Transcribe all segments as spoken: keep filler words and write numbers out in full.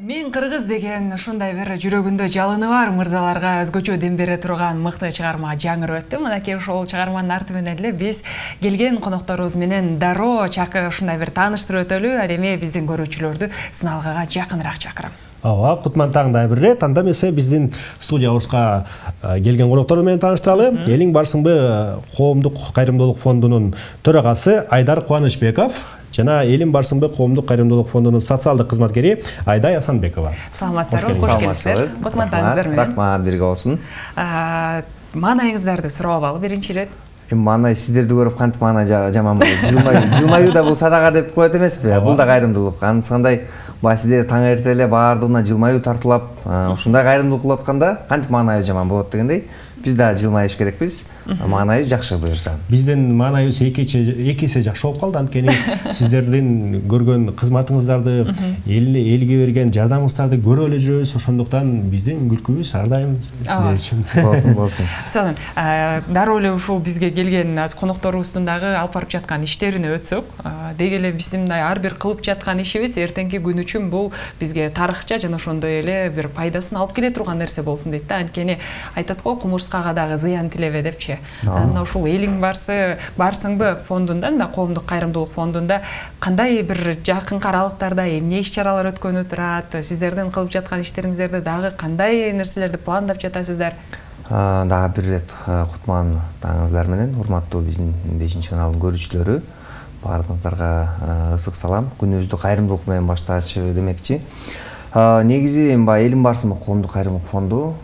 Мен кыргыз деген ушундай бир жүрөгүндө жалыны бар мырзаларга өзгөчө дем бере турган мыкты чыгарма жаңырып өттү. Мынакей ошол чыгарманын арты менен эле биз келген конокторубуз менен дароо чакыр ушундай бир тааныштырып өтөлү. Ал эми биздин көрүүчүлөрдү Сыналгага жакыныраак чакырам. Ооба, кутман таң да бир ирет. Анда эмесе биздин студиябызга келген коноктор менен тааныштыралы. Элиң барсыңбы коомдук кайрымдуулук фондунун төрагасы Айдар Кубанычбеков жана Элим барсыңбы коомдук кайрымдуулук фондунун социалдык кызматкери Айдай Асанбекова. Саламатсыздарбы, кош келипсиздер. Кутман таңыңыздар менен. Рахмат, бирге болсун. Маанайыңыздарды сурап алалы биринчи ирет. Маанай сиздерди көрүп кантип маанай жаман болот. Жылмаю, жылмаю да бул садага деп коет эмеспи? Бул да кайрымдуулук. Анысындай баягы сиздер таң эрте эле баардыгына жылмаю тартуулап, ушундай кайрымдуулук кылып атканда кантип маанай жаман болот дегендей. Биз да жылмайыш керекпиз. Маанайы жакшы буюрса. Биздин маанайыбыз эки эсе жакшы болуп калды. Анткени сиздердин көргөн кызматыңыздарды, элге берген жардамыңыздарды көрүп эле жүрөбүз. Ошондуктан биздин күлкүбүз ар дайым сиздер үчүн. Болсун, болсун. Сонун, дароо эле ушул бизге келген конокторубуздун дагы алып барып жаткан иштерине өтсөк, деги эле биздин мындай ар бир кылып жаткан ишибиз эртеңки күн үчүн бул бизге тарыхча жана ошондой эле бир пайдасын алып келе турган нерсе болсун дейт да. Анткени айтат го, кумурскага дагы зыян тилебе депчи. Мына ушул Элиң барсы, барсыңбы фондунда, мына коомдук кайрымдуулук фондунда кандай бир жакынкы аралыктарда эмне иш чаралар өткөнү турат? Сиздердин кылып жаткан иштериңиздерде дагы кандай нерселерди пландап жатасыздар? Дагы бир ирет кутман таңыңыздар менен, урматтуу биздин бешинчи каналдын көрүүчүлөрү. Баардыгыңыздарга ысык салам. Күнүбүздү кайрымдуулук менен баштачы демекчи. Негизи баягы Элим барсыңбы коомдук кайрымдуулук фонду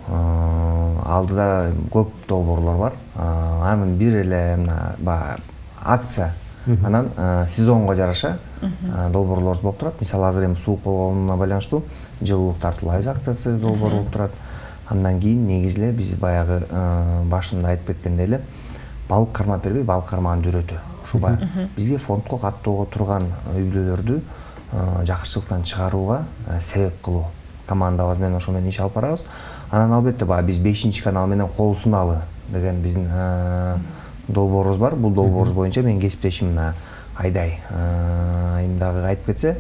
алдыда көп долбоорлор бар. Анын бир эле баягы акция, анан сезонго жараша долбоорлорубуз болуп турат. Мисалы, азыр эми суук болгонуна байланыштуу жылуулук тартуулайбыз акциясы долбоор болуп турат. Андан кийин негизи эле биз баягы башында айтып кеткендей эле балык кармап бербей, балык кармаган дүрөтү. Ушул баягы бизге фондко каттоого турган үй бүлөлөрдү жакырчылыктан чыгарууга себеп кылуу. Командабыз менен ошо менен иш алып барабыз. Анан албетте баягы биз бешинчи канал менен кол суналы деген биздин долбоорубуз бар. Бул долбоорубуз боюнча менин кесиптешим Айдай эми дагы айтып кетсе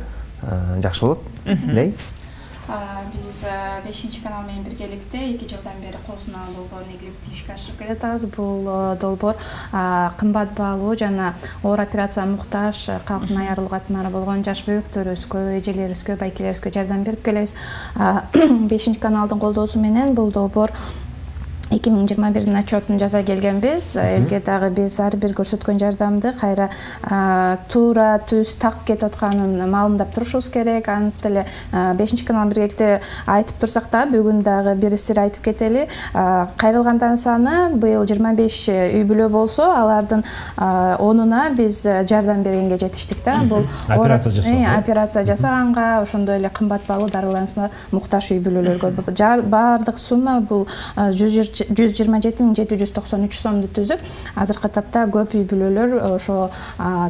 жакшы болот. Элей? Биз бешинчи канал менен биргеликте эки жылдан бери кол суналы долбоорун ийгиликтүү ишке ашырып келатабыз. Бул долбоор кымбат баалуу жана оор операция муктаж, калктын аярылуу катмары болгон жаш бөбөктөрүбүзгө, эжелерибизгө, байкелерибизге жардам берип келебиз. бешинчи каналдын колдоосу менен бул долбоор эки миң жыйырма бирдин отчетун жаза келгенбиз. Элге дагы биз ар бир көрсөткөн жардамды кайра туура түз так кетип атканын маалымдап турушубуз керек. Анысы деле бешинчи канал биргеликте айтып турсак да, бүгүн дагы бир сир айтып кетели. Кайрылгандар саны быйыл жыйырма беш үй бүлө болсо, алардын онуна биз жардам бергенге жетиштик да. Бул операция жасоо. Операция жасаганга, ошондой эле кымбат баалуу дарыланууна муктаж үй бүлөлөргө баардык сумма бул жүз жыйырма жети миң жети жүз токсон үч сомду түзүп, азыркы тапта көп үй бүлөлөр ошо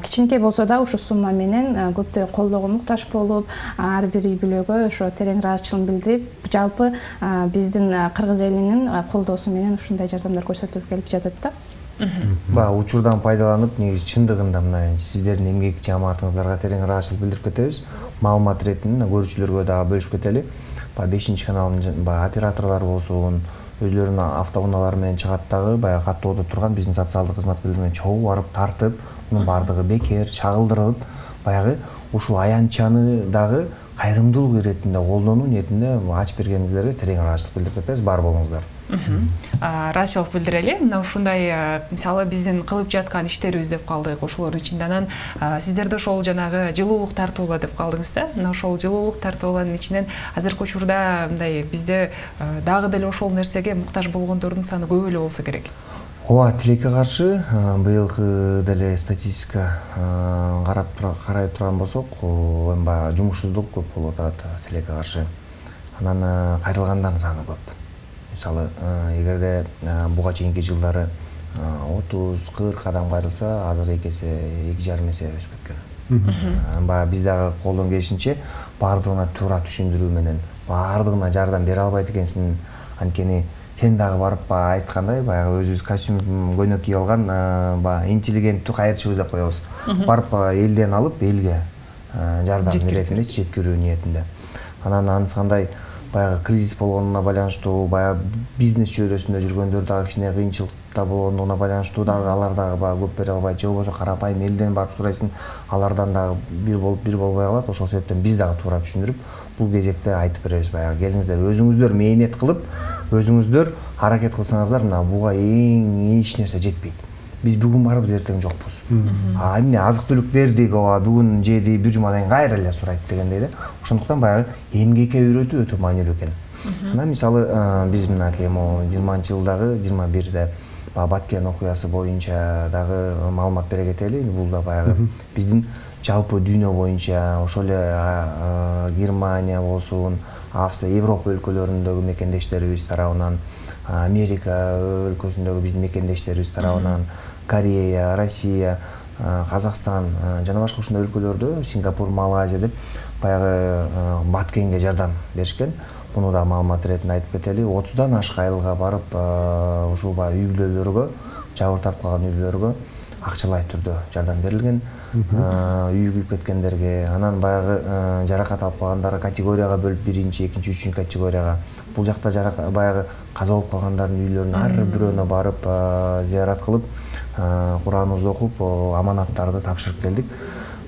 кичинекей болсо да ушул сумма менен көптөгөн колдоого муктаж болуп, ар бир үй бүлөгө ошо терең ыраазычылыгын билдирип, жалпы биздин кыргыз элинин колдоосу менен ушундай жардамдар көрсөтүлүп келип жатат да. Баягы учурдан пайдаланып, негизи чындыгында мына сиздердин эмгек жамаатыңыздарга терең ыраазычылык билдирип кетебиз. Маалымат иретинен көрүүчүлөргө дагы бөлүшүп кетели. Баягы бешинчи каналдын баягы операторлору болсун, өзлөрүнүн автоунаалары менен чыгат дагы баягы каттоодо турган биздин социалдык кызматкерлер менен чогуу барып тартып, мунун баардыгы бекер чагылдырылып, баягы ушул аянтчаны дагы кайрымдуулук иретинде колдонуу ниетинде ачып бергениңиздерге терең ыраазычылык билдирип кетебиз. Бар болуңуздар. Ыраазычылык билдирели. Мына ушундай мисалы биздин кылып жаткан иштерибиз деп калдык ошолордун ичинде. Анан сиздерде ошол жанагы жылуулук тартуулоо деп калдыңыз да. Мына ошол жылуулук тартууланын ичинен азыркы учурда мындай бизде дагы деле ошол нерсеге муктаж болгондордун саны көп эле болсо керек. Ооба, тилекке каршы быйылкы деле статистика карап карай турган болсок, эми баягы жумушсуздук көп болуп атат тилекке каршы. Анан кайрылгандардын саны көп. Мисалы, эгерде буга чейинки жылдары отуз кырк адам кайрылса, азыр эки эсе, эки жарым эсе өсүп кеткен. Баягы биз дагы колдон келишинче баардыгына туура түшүндүрүү менен, баардыгына жардам бере албайт экенсиң. Анткени сен дагы барып айткандай, баягы өзүбүз костюм көйнөк кийип алган баягы интеллигенттүү кайрычыбыз деп коебуз. Барып элден алып, элге жардам иретинде жеткирүү ниетинде. Анан анысыкандай баягы кризис болгонуна байланыштуу, баягы бизнес чөйрөсүндө жүргөндөр дагы кичине кыйынчылыкта болгондугуна байланыштуу дагы алар дагы баягы көп бере албайт, же болбосо карапайым элден барып сурайсың, алардан дагы бир болуп бир болбой калат. Ошол себептен биз дагы туура түшүндүрүп, бул кезекте айтып беребиз, баягы келиңиздер, өзүңүздөр мээнет кылып, өзүңүздөр аракет кылсаңыздар, мына буга эң эч нерсе жетпейт. Биз бүгүн барбыз, эртең жокпуз. А эмне азык түлүк бердик, ооба бүгүн жедик, бир жумадан кийин кайра эле сурайт дегендей да. Ошондуктан баягы эмгекке үйрөтүү өтө маанилүү экен. Мына мисалы биз мынакей могу жыйырманчы жылдагы жыйырма бирде Баткен окуясы боюнча дагы маалымат бере кетели. Бул да баягы биздин жалпы дүйнө боюнча ошол эле Германия болсун, Австрия, Европа өлкөлөрүндөгү мекендештерибиз тарабынан, Америка өлкөсүндөгү биздин мекендештерибиз тарабынан, Корея, Россия, Казакстан жана башка ушундай өлкөлөрдө, Сингапур, Малайзия деп баягы Баткенге жардам беришкен. Буну да маалымат иретинде айтып кетели. отуздан ашык айылга барып, ушул баягы үй бүлөлөргө, жабыр тартып калган үй бүлөлөргө акчалай түрдө жардам берилген. Үй күйүп кеткендерге, анан баягы жаракат алып калгандарга категорияга бөлүп, биринчи, экинчи, үчүнчү категорияга. Бул жакта баягы каза болуп калгандардын үйлөрүнө ар бирөөнө барып, зыярат кылып, Кураныбызды окуп, аманаттарды тапшырып келдик.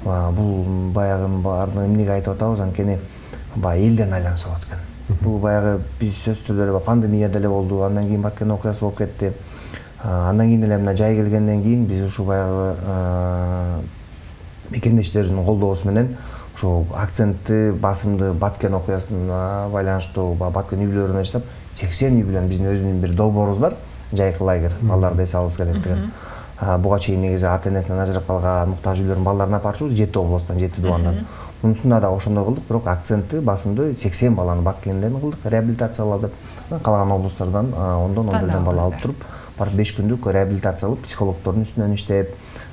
Бул баягы баардыгы эмнеге айтып атабыз, анткени баягы элден айланса болот экен. Бул баягы биз сөзсүз түрдө эле пандемия деле болду, андан кийин Баткен окуясы болуп кетти. Андан кийин эле мына жай келгенден кийин биз ушу баягы мекендештерибиздин колдоосу менен ошо акцентти, басымды Баткен окуясына байланыштуу, Баткен үй бүлөлөрүнө жасап, сексен үй бүлөнү биздин өзүнүн бир долбоорубуз бар, жайкы лагерь, балдарды эс алгыбыз келет деген. Буга чейин негизи ата-энесинен ажырап калган муктаж үйлөрдүн балдарын алып барчубуз, жети областтан, жети дубандан. Мунусунда да ошондой кылдык, бирок акцентти, басымды сексен баланы Баткенден кылдык, реабилитациялап, калган областтардан ондон он бирден бала алып туруп, барып беш күндүк реабилитация кылып, психологдордун үстүнөн иштеп,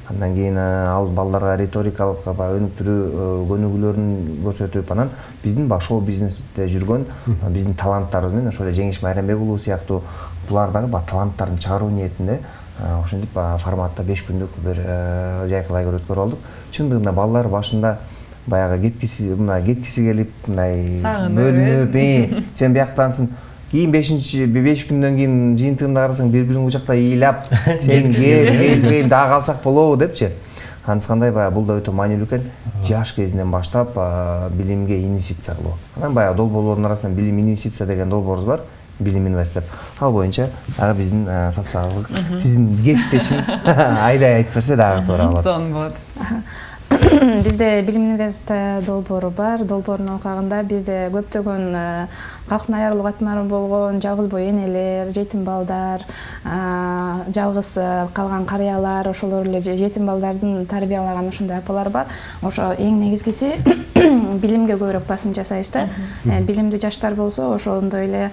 андан кийин ал балдарга риторикалык өнүктүрүү көнүгүүлөрүн көрсөтүп, анан биздин ошол бизнесте жүргөн биздин таланттарыбыз менен ошол эле Жеңиш Майрамбек уулу сыяктуу булар дагы таланттарын чыгаруу ниетинде ошентип форматта беш күндүк бир жайкы лагерь өткөрүп алдык. Чындыгында балдар башында баягы кеткиси, мына кеткиси келип, мындай бөлүнүп, сен бияктансың. Кийин бешинчи беш күндөн кийин жыйынтыгында карасаң, бири-бирин кучактай ыйлап, сен кел, келбейм, дагы калсак болобу депчи. Анысыкандай баягы бул да өтө маанилүү экен. Жаш кезинен баштап билимге инвестиция кылуу. Анан баягы долбоорлордун арасынан билим инвестиция деген долбоорубуз бар. Билим инвест деп. Ал боюнча дагы биздин социалдык, биздин кесиптешим Айдай айтып берсе дагы туура болот. Сонун болот. Бизде Билим инвест долбоору бар. Долбоордун алкагында бизде көптөгөн калктын аярылуу катмары болгон жалгыз бой энелер, жетим балдар, жалгыз калган карыялар, ошолор эле жетим балдардын тарбиялаган ушундай апалар бар. Ошо эң негизгиси билимге көбүрөөк басым жасайбыз да. Билимдүү жаштар болсо, ошондой эле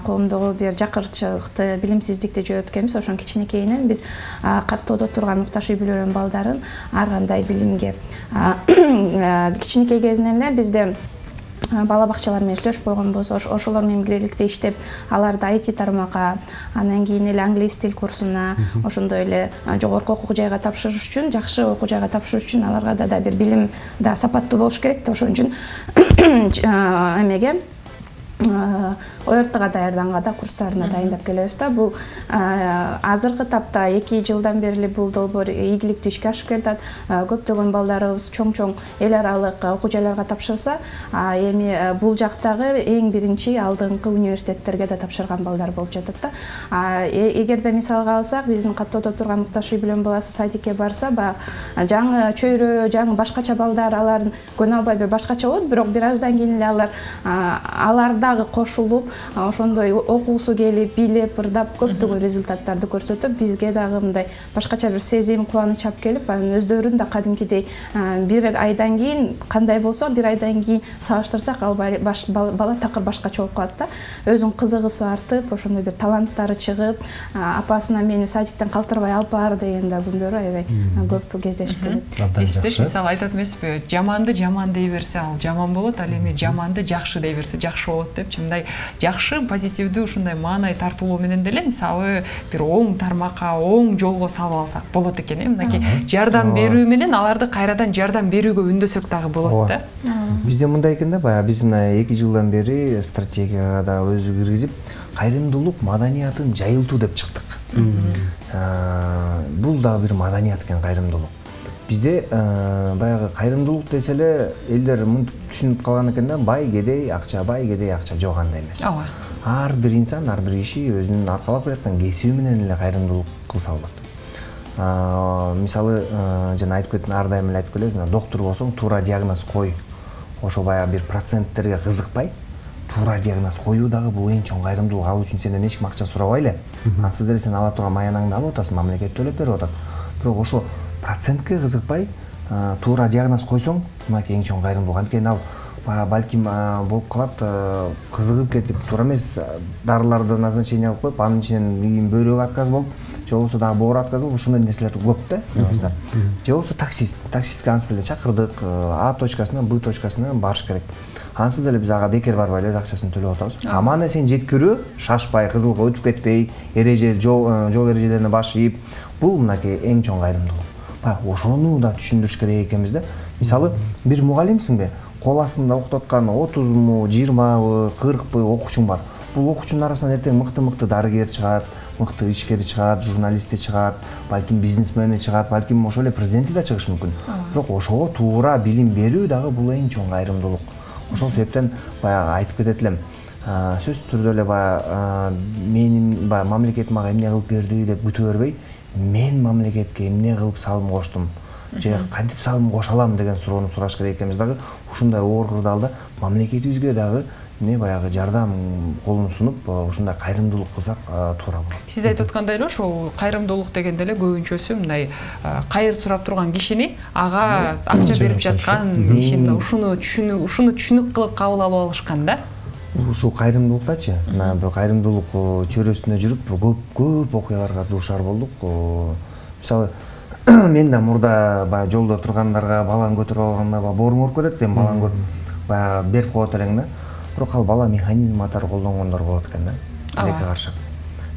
коомдогу бир жакырчылыкты, билимсиздикти жөөткөнбүз. Ошон кичинекейинен биз каттоодо турган муктаж үй бүлөлөрүнүн балдарын ар кандай билимге кичинекей кезинен эле бизде бала бакчалар менен иштеш болгон болсо, ошолор менен биргеликте иштеп, аларды ай ти тармакка, андан кийин эле англис тил курсуна, ошондой эле жогорку окуу жайга тапшырыш үчүн, жакшы окуу жайга тапшырыш үчүн аларга да бир билим да сапаттуу болуш керек да. Ошон үчүн эмеге о эр тга даярданганда курстарына дайындап келебиз да. Бул азыркы тапта эки жылдан бери бул долбоор ийгиликтүү ишке ашып келатат. Көптөгөн балдарыбыз чоң-чоң эл аралык окуу жайларга тапшырса, эми бул жактагы эң биринчи алдыңкы университеттерге да тапшырган балдар болуп жатат да. Эгерде мисалга алсак, биздин каттоодо турган муктаж үй бүлөнүн баласы садикке барса, баягы жаңы чөйрө, жаңы башкача балдар, алардын көнө албай бир башкача болот, бирок бир аздан кийин эле алар аларда кошулуп, ошондой окуусу келип, билип, ырдап көптөгөн результаттарды көрсөтүп, бизге дагы мындай башкача бир сезим, кубаныч алып келип, анан өздөрүн да кадимкидей бир айдан кийин кандай болсо, бир айдан кийин салыштырсак, ал бала такыр башкача болуп калат да. Өзүнүн кызыгысы артып, ошондой бир таланттары чыгып, апасына мени садиктен калтырбай алып бар деген да күндөрү аябай көп кездешип келет. Эстеш мисалы айтат эмеспи, жаманды жаман дей берсе, ал жаман болот, ал эми жаманды жакшы дей берсе, жакшы болот депчи, мындай жакшы, позитивдүү ушундай маанай тартуулоо менен деле мисалы бир оң тармакка, оң жолго салып алсак болот экен, э, мынакей жардам берүү менен аларды кайрадан жардам берүүгө үндөсөк дагы болот да. Бизде мындай экен да, баягы биз мына эки жылдан бери стратегияга да өзү киргизип, кайрымдуулук маданиятын жайылтуу деп чыктык. Бул да бир маданият экен кайрымдуулук. Бизде баягы кайрымдуулук десе эле элдер мынтип түшүнүп калган экен да, бай кедей акча, бай кедей акча жок андай эмес. Ооба. Ар бир инсан, ар бир киши өзүнүн аркалап келаткан кесиби менен эле кайрымдуулук кылса болот. Мисалы, жана айтып кеттим, ар дайым эле айтып келебиз, мына доктур болсоң, туура диагноз кой. Ошо баягы бир проценттерге кызыкпай, туура диагноз коюу дагы бул эң чоң кайрымдуулук. Ал үчүн сенден эч ким акча сурабай эле. Ансыз деле сен ала турган маянаңды алып атасың, мамлекет төлөп берип атат. Бирок ошо процентке кызыкпай, туура диагноз койсоң, мынакей эң чоң кайрымдуулук. Анткени ал балким болуп калат, кызыгып кетип, туура эмес дарыларды назначение кылып коюп, анын ичинен кийин бөйрөгү отказ болуп, же болбосо дагы боору отказ болуп, ушундай нерселер көп да, жибасыздар. Же болбосо таксист, таксистке ансыз деле чакырдык, А точкасынан Б точкасына барыш керек. Ансыз деле биз ага бекер барбай эле өз акчасын төлөп атабыз. Аман эсен жеткирүү, шашпай, кызылга өтүп кетпей, эреже жол эрежелерине баш ийип, бул мынакей эң чоң кайрымдуулук. Баягы ошону да түшүндүрүш керек экенбиз да. Мисалы, бир мугалимсиңби, кол астында окутуп аткан отузму, жыйырмабы, кыркпы окуучуң бар. Бул окуучунун арасынан эртең мыкты-мыкты дарыгер чыгат, мыкты ишкер чыгат, журналисти чыгат, балким бизнесмени чыгат, балким ошол эле президенти да чыгышы мүмкүн. Бирок ошого туура билим берүү дагы бул эң чоң кайрымдуулук. Ошол себептен баягы айтып кетет элем, сөзсүз түрдө эле баягы менин баягы мамлекет мага эмне кылып берди деп күтө бербей, мен мамлекетке эмне кылып салым коштум, же кантип салым кошо алам деген суроону сураш керек экенбиз дагы. Ушундай оор кырдаалда мамлекетибизге дагы эмне баягы жардам колун сунуп, ушундай кайрымдуулук кылсак туура болот. Сиз айтып аткандай эле ошол кайрымдуулук дегенде эле көбүнчөсү мындай кайыр сурап турган кишини ага акча берип жаткан кишини ушуну түшүнүп, ушуну түшүнүк кылып кабыл алып алышкан да. Ушул кайрымдуулуктачы, мына бир кайрымдуулук чөйрөсүндө жүрүп көп көп окуяларга дуушар болдук. Мисалы, мен да мурда баягы жолдо тургандарга баланы көтөрүп алганда бооруң ооруп кетет, эми баланы көрүп баягы берип коет элең да. Бирок ал бала механизм катары колдонгондор болот экен да. Элекке каршы.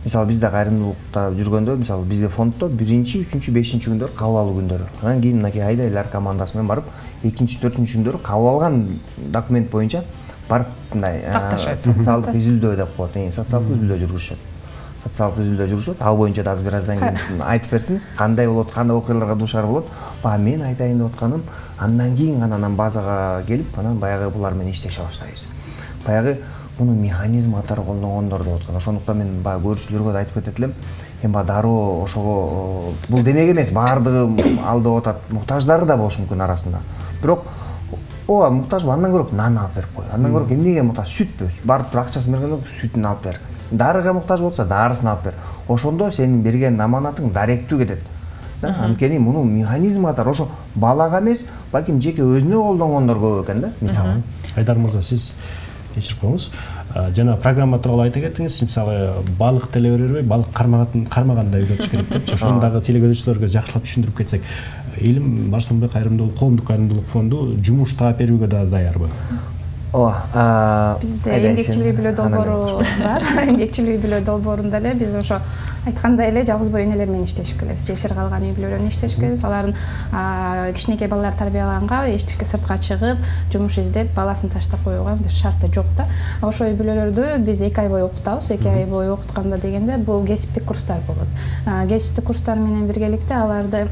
Мисалы, бизде кайрымдуулукта жүргөндө, мисалы, бизде фонддо биринчи, үчүнчү, бешинчи күндөрү кабыл алуу күндөрү. Анан кийин мынакей айдайлар командасы менен барып, экинчи, төртүнчү күндөрү кабыл алган документ боюнча барып мындай социалдык изилдөө деп коет, социалдык изилдөө жүргүзүшөт. Социалдык изилдөө жүргүзүшөт. Ал боюнча да бир аздан кийин айтып берсин, кандай болот, кандай окуяларга дуушар болот. Баягы мен айтайын деп атканым, андан кийин гана анан базага келип, анан баягы булар менен иштеше баштайбыз. Баягы муну механизм катары колдонгондор деп аткан. Ошондуктан мен баягы көрүүчүлөргө да айтып кетет элем, эми баягы дароо ошого бул демек эмес, баардыгы ал деп атат, муктаждары да болушу мүмкүн арасында. Бирок ооба, муктажбы, андан көрөк нан алып берип кой. Андан көрөк эмнеге муктаж, сүтпү, барып туруп акчасын бергенде сүтүн алып бер. Дарыга муктаж болсо, дарысын алып бер. Ошондо сенин берген аманатың даректүү кетет. Да, анткени муну механизм катары ошо балага эмес, балким жеке өзүнө колдонгондор көп экен да, мисалы. Айдар мырза, сиз кечирип коюңуз. Жана программа тууралуу айта кеттиңиз, мисалы, балык теле бербей, балык кармагандай үйрөтүш керек деп. Ошону дагы телекөрүүчүлөргө жакшылап түшүндүрүп кетсек. Элим Барсынбек кайрымдуулук, коомдук кайрымдуулук фонду жумуш таап берүүгө да даярбы? Ооба, бизде эмгекчилик билүү долбоору бар. Эмгекчилик билүү долбоорунда эле биз ошо айткандай эле жалгыз бой энелер менен иштешип келебиз. Жесир калган үй бүлөлөр менен иштешип келебиз. Алардын кичинекей балалар тарбиялаганга эчтеке сыртка чыгып, жумуш издеп, баласын таштап коюуга бир шарты жок да. Ошо үй бүлөлөрдү биз эки ай бою окутабыз. эки ай бою окутканда дегенде бул кесиптик курстар болот. Кесиптик курстар менен биргеликте аларды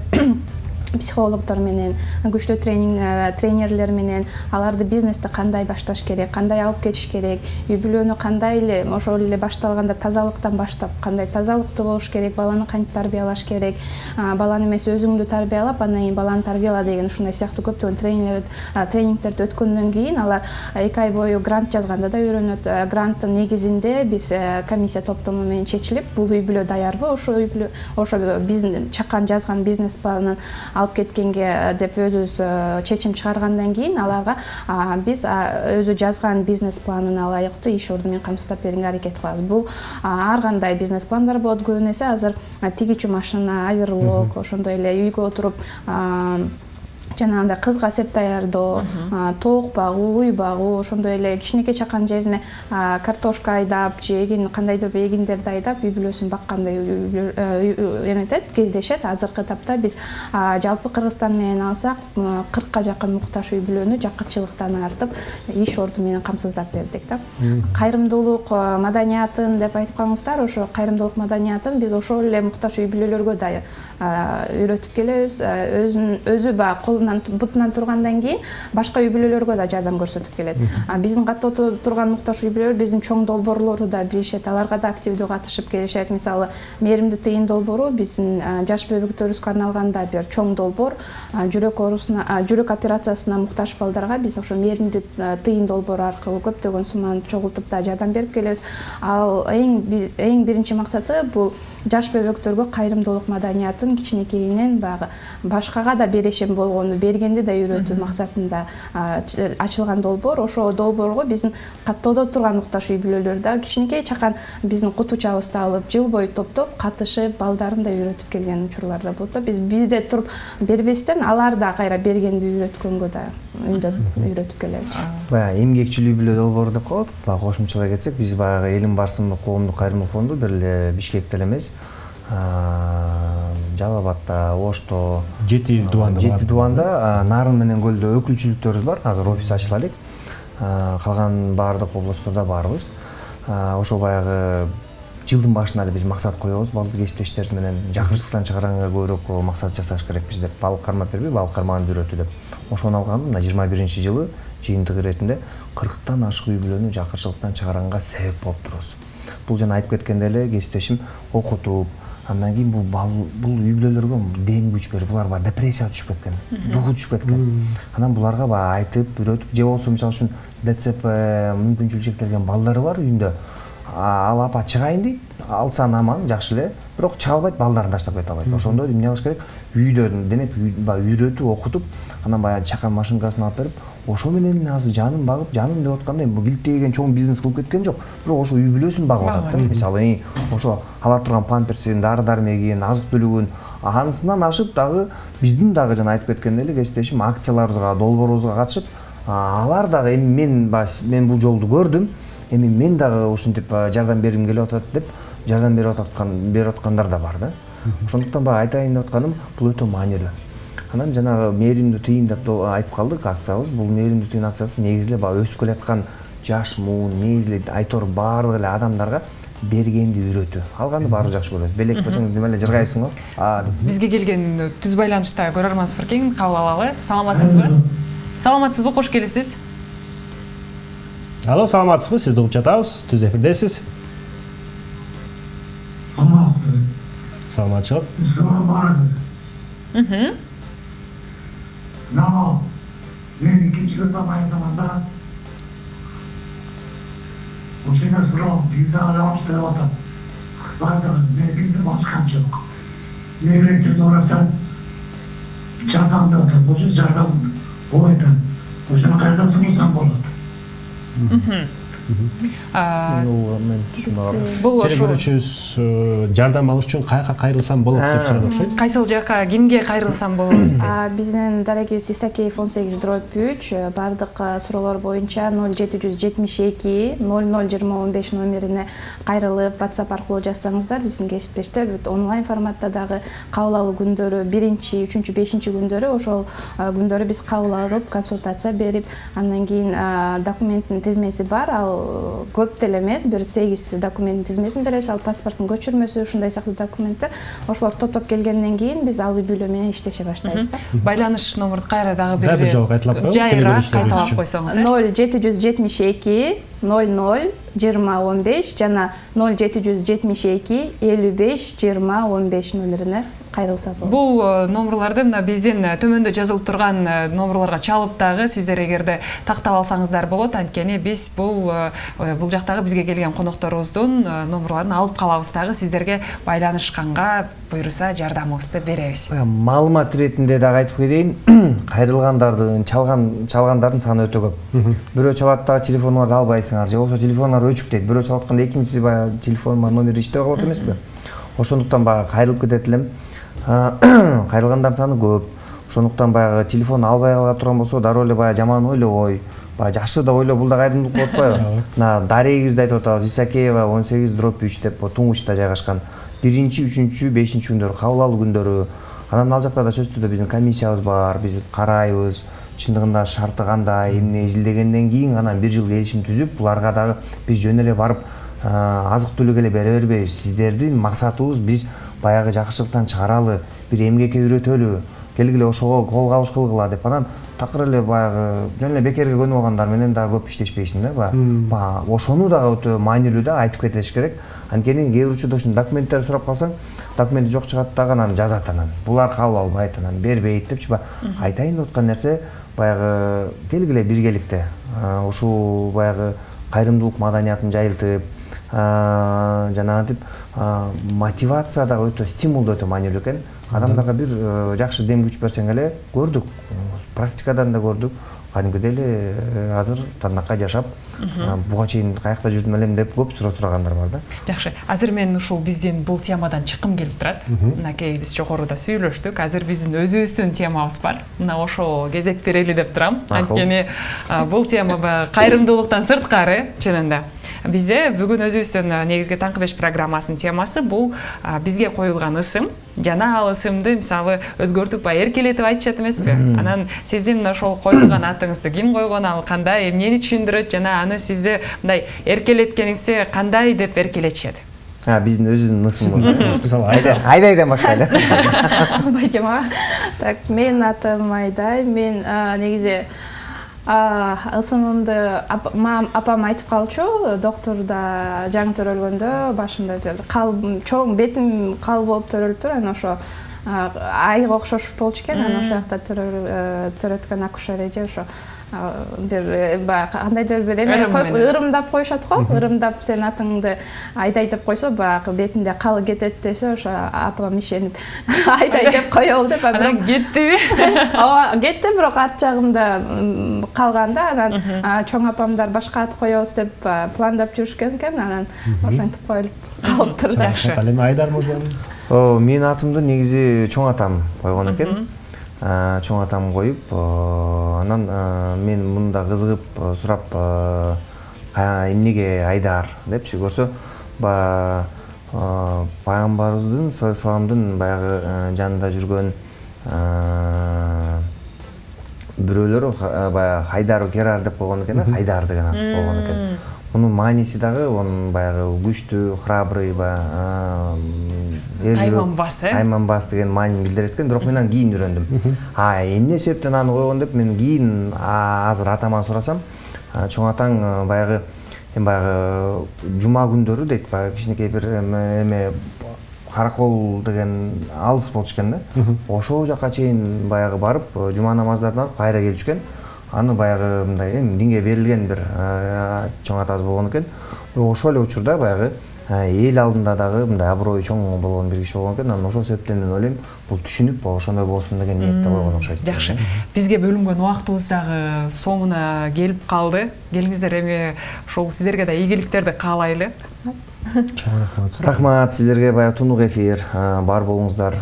психологдор менен, күчтүү тренинг тренерлер менен аларды бизнести кандай башташ керек, кандай алып кетиш керек, үй бүлөнү кандай эле ошол эле башталганда тазалыктан баштап, кандай тазалыктуу болуш керек, баланы кантип тарбиялаш керек, баланы эмес өзүңдү тарбиялап, андан кийин баланы тарбияла деген ушундай сыяктуу көптөгөн тренерлер тренингтерди өткөндөн кийин алар эки ай бою грант жазганда да үйрөнөт. Гранттын негизинде биз комиссия топтому менен чечилип, бул үй бүлө даярбы, ошо үй бүлө ошо биздин чакан жазган бизнес планын алып кеткенге деп өзүбүз чечим чыгаргандан кийин аларга биз өзү жазган бизнес планына ылайыктуу иш орду менен камсыздап берүүгө аракет кылабыз. Бул ар кандай бизнес пландар болот. Көбүн эсе азыр тигичү машина, аверлок, ошондой эле үйгө отуруп жанагындай кызга сеп даярдоо, тоок багуу, уй багуу, ошондой эле кичинекей чакан жерине картошка айдап же эгин кандайдыр бир эгиндерди айдап үй бүлөсүн баккандай эметет, кездешет. Азыркы тапта биз жалпы Кыргызстан менен алсак кыркка жакын муктаж үй бүлөнү жакырчылыктан артып иш орду менен камсыздап бердик да. Кайрымдуулук маданиятын деп айтып калыңыздар, ошо кайрымдуулук маданиятын биз ошол эле муктаж үй бүлөлөргө да үйрөтүп келебиз. Өзүн өзү баягы колунан бутунан тургандан кийин башка үй бүлөлөргө да жардам көрсөтүп келет. Биздин каттоо турган муктаж үй бүлөлөр биздин чоң долбоорлорду да билишет, аларга да активдүү катышып келишет. Мисалы, мээримдүү тыйын долбоору биздин жаш бөбөктөрүбүзгө арналган да бир чоң долбоор. Жүрөк оорусуна, жүрөк операциясына муктаж балдарга биз ошо мээримдүү тыйын долбоору аркылуу көптөгөн сумманы чогултуп да жардам берип келебиз. Ал эң эң биринчи максаты бул жаш бөбөктөргө кайрымдуулук маданиятын кичинекейинен баягы башкага да берешим болгону, бергенди да үйрөтүү максатында ачылган долбоор. Ошо долбоорго биздин каттоодо турган муктаж үй бүлөлөр да кичинекей чакан биздин кутучабызды алып, жыл бою топтоп катышып, балдарын да үйрөтүп келген учурлар да болот. Биз бизде туруп бербестен алар да кайра бергенди үйрөткөнгө да үндөп үйрөтүп келебиз. Баягы эмгекчил үй бүлө долбоору деп коет. Баягы кошумчалай кетсек, биз баягы Элим Барсымов коомдук кайрымдуулук фонду бир эле Бишкекте эле эмес, Жалал Абадта, Ошто, жети дубанда жети дубанда, Нарын менен Көлдө өкүлчүлүктөрүбүз бар. Азыр офис ачыла элек. Калган баардык областарда барбыз. Ошо баягы жылдын башында эле биз максат коебуз. Балдык кесиптештерибиз менен жакырчылыктан чыгаранга көбүрөөк максат жасаш керекпиз деп, балык кармап бербей, балык кармаганды үйрөтүү деп. Ошону алгам. Мына жыйырма биринчи жылы жыйынтык иретинде кырктан ашык үй бүлөнү жакырчылыктан чыгаранга себеп болуп турабыз. Бул жана айтып кеткендей эле кесиптешим окутуп, андан кийин бул бул үй бүлөлөргө дем күч берип, булар баягы депрессияга түшүп кеткен, духу түшүп кеткен. Анан буларга баягы айтып, үйрөтүп, же болбосо мисалы үчүн ДЦП мүмкүнчүлүгү чектелген балдары бар үйүндө. Ал апа чыгайын дейт, алсаң аман, жакшы эле, бирок чыга албайт, балдарын таштап кете албайт. Ошондо эмне кылыш керек? Үйдө демек баягы үйрөтүп, окутуп, анан баягы чакан машинкасын алып берип, ошо менен азыр жанын багып, жанын деп атканда эми килттеген чоң бизнес кылып кеткен жок, бирок ошо үй бүлөсүн багып атат да. Мисалы, ошо ала турган памперсин, дары-дармегин, азык-түлүгүн, анысынан ашып дагы биздин дагы жана айтып кеткендей эле кесиптешим акцияларыбызга, долбоорубузга катышып, алар дагы эми мен мен бул жолду көрдүм, эми мен дагы ушинтип жардам бергим келип атат деп жардам берип аткан берип аткандар да бар да. Ошондуктан баягы айтайын деп атканым, бул өтө маанилүү. Анан жанагы мээримдүү тыйын деп айтып калдык акциябыз. Бул мээримдүү тыйын акциясы негизи эле баягы өсүп келаткан жаш муун, негизи эле айтор баардык эле адамдарга бергенди үйрөтүү. Алганды баары жакшы көрөбүз. Белек бачаң неме эле жыргайсың го? Бизге келген түз байланышта көрөрманыбыз бар экен, кабыл алалы. Саламатсызбы? Саламатсызбы? Кош келипсиз. Алло, саламатсызбы? Сизди угуп жатабыз. Түз эфирдесиз. Саламатчылык. Мхм. Но мен экинчи күндө майдаманда ошондо суроо бизде алабыз деп атат. Баардыгы мээримди баскан жок. Мээримди сурасам жардам деп атат. Ошо жардам болот. Ошону кайдан сурасам болот. Мхм. Бул көрүүчүбүз жардам алыш үчүн каяка кайрылсам болот деп сурады окшойт. Кайсыл жака, кимге кайрылсам болот? Биздин дарегибиз Исакеев он сегиз дробь үч, бардык суроолор боюнча ноль жети жүз жетимиш эки ноль ноль жыйырма он беш номерине кайрылып, WhatsApp аркылуу жазсаңыздар, биздин кесиптештер онлайн форматта дагы кабыл алуу күндөрү биринчи, үчүнчү, бешинчи күндөрү ошол күндөрү биз кабыл алып, консультация берип, андан кийин документтин тизмеси бар, ал көп деле эмес, бир сегиз документтин тизмесин беребиз, ал паспорттун көчүрмөсү, ушундай сыяктуу документтер. Ошолор топтоп келгенден кийин биз ал үй бүлө менен иштеше баштайбыз да. Байланыш номерду кайра дагы бир бир жолу кайталап коелу. Жайра кайталап койсоңуз. ноль жети жүз жетимиш эки ноль ноль жыйырма он беш жана ноль жети жүз жетимиш эки элүү беш жыйырма он беш номерине кайрылса болот. Бул номерларды мына биздин төмөндө жазылып турган номерларга чалып дагы сиздер эгерде тактап алсаңыздар болот. Анткени биз бул бул жактагы бизге келген конокторубуздун номерларын алып калабыз дагы, сиздерге байланышканга буйруса жардамыбызды беребиз. Маалымат иретинде дагы айтып кетейин, кайрылгандардын, чалган чалгандардын саны өтө көп. Бирөө чалат дагы телефонуңарды албайсыңар, же болбосо телефонуңар өчүктөйт. Бирөө чалып атканда экинчиси баягы телефонума номери иштебей калат эмеспи? Ошондуктан баягы кайрылып кетет элем. Кайрылгандардын саны көп. ошондуктан баягы телефон албай кала турган болсо дароо эле баягы жаман ойлобой, баягы жакшы да ойлоп, бул да кайрымдуулук болуп атпайбы? Мына дарегибизди айтып атабыз, Исакеева он сегиз дробь үч деп Туңгучта жайгашкан. биринчи, үчүнчү, бешинчи күндөрү кабыл алуу күндөрү. Анан ал жакта да сөзсүз түрдө биздин комиссиябыз бар, биз карайбыз. Чындыгында шарты кандай, эмне изилдегенден кийин анан бир жыл келишим түзүп, буларга дагы биз жөн эле барып азык түлүк эле бере бербейбиз. Сиздердин максатыбыз биз баягы жакшылыктан чыгаралы, бир эмгекке үйрөтөлү, келгиле ошого кол кабыш кылгыла деп. Анан такыр эле баягы жөн эле бекерге көнүп алгандар менен дагы көп иштешпейсиң да, баягы. Ошону дагы өтө маанилүү да айтып кетиш керек. Анткени кээ бир учурда ушун документтер сурап калсаң, документи жок чыгат дагы, анан жазат анан. Булар кабыл албайт, анан бербейт депчи. Айтайын деп аткан нерсе баягы келгиле биргеликте ушул баягы кайрымдуулук маданиятын жайылтып, жанагынтип мотивация дагы өтө, стимул да өтө маанилүү экен. Адамдарга бир жакшы дем күч берсең эле көрдүк, практикадан да көрдүк. Кадимкидей эле азыр тырнакка жашап, буга чейин каякта жүрдүм элем деп көп суроо сурагандар бар да. Жакшы. Азыр мен ушул биздин бул темадан чыккым келип турат. Мынакей биз жогоруда сүйлөштүк. Азыр биздин өзүбүздүн темабыз бар. Мына ошо кезек берели деп турам. Анткени бул тема кайрымдуулуктан сырткары, чынында. Бизде бүгүн өзүбүздүн негизги Таңкы беш программасынын темасы бул бизге коюлган ысым. Жана ал ысымды мисалы өзгөртүп бай эркелетип айтышат эмеспи? Анан сиздин ошол коюлган атыңызды ким койгон, ал кандай, эмнени түшүндүрөт жана аны сизди мындай эркелеткениңизде кандай деп эркелетишет? А, биздин өзүнүн ысымыбыз. Мисалы Айдай, Айдайдан баштайлы. Байкема. Так, менин атым Айдай. Мен негизи ысымымды апам айтып калчу, доктурда жаңы төрөлгөндө башында бир чоң бетим кал болуп төрөлүптүр, анан ошо айга окшош болчу экен, анан ошол жакта төрөткөн акушер эже ошо бир баягы кандайдыр бир эме коюп ырымдап коюшат го, ырымдап сен атыңды Айдай деп койсо баягы бетинде калы кетет десе, ошо апам ишенип Айдай деп коелу деп. Анан кеттиби? Ооба, кетти, бирок арт жагымда калган да. Анан чоң апамдар башка ат коебуз деп пландап жүрүшкөн экен, анан ошентип коюлуп калыптыр. Жакшы. Ал эми Айдар мырзанын Менин атымды негизи чоң атам койгон экен. Чоң атам коюп, анан мен мында кызыгып сурап, эмнеге Айдар депчи көрсө, баягы пайгамбарыбыздын салламдын баягы жанында жүргөн бирөөлөр баягы Хайдар Керар деп койгон экен, Хайдар деген ат койгон экен. Мунун мааниси дагы он баягы күчтүү, храбрый, Тайманбас, э? Тайманбас деген маанини билдирет экен, бирок мен аны кийин үйрөндүм. А, эмне себептен аны койгон деп мен кийин азыр атаман сурасам, чоң атаң баягы эми баягы жума күндөрү дейт, баягы кичинекей бир эме каракол деген алыс болчу экен да. Ошол жака чейин баягы барып, жума намаздарын алып кайра келчү экен. Аны баягы мындай эми динге берилген бир чоң атабыз болгон экен. Ошол эле учурда баягы эл алдында дагы мындай аброю чоң болгон бир киши болгон экен. Анан ошол себептен мен ойлойм, бул түшүнүп ошондой болсун деген ниетте койгон окшойт. Жакшы. Бизге бөлүнгөн убактыбыз дагы соңуна келип калды. Келиңиздер, эми ошол сиздерге да ийгиликтерди каалайлы. Рахмат сиздерге, баягы тунук эфир, бар болуңуздар.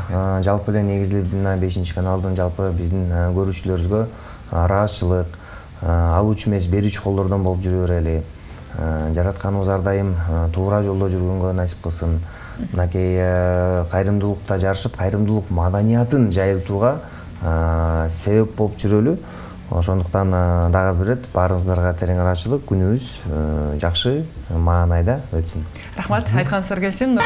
Жалпы эле негизи мына бешинчи каналдын жалпы биздин көрүүчүлөрүбүзгө ыраазычылык, алуучу эмес берүүчү колдордон болуп жүрө берели. Жаратканыбыз ар дайым туура жолдо жүргөнгө насип кылсын. Мынакей кайрымдуулукта жарышып, кайрымдуулук маданиятын жайылтууга себеп болуп жүрөлү. Ошондуктан дагы бир ирет баарыңыздарга терең ыраазычылык, күнүбүз жакшы маанайда өтсүн. Рахмат, айтканыңыздар келсин.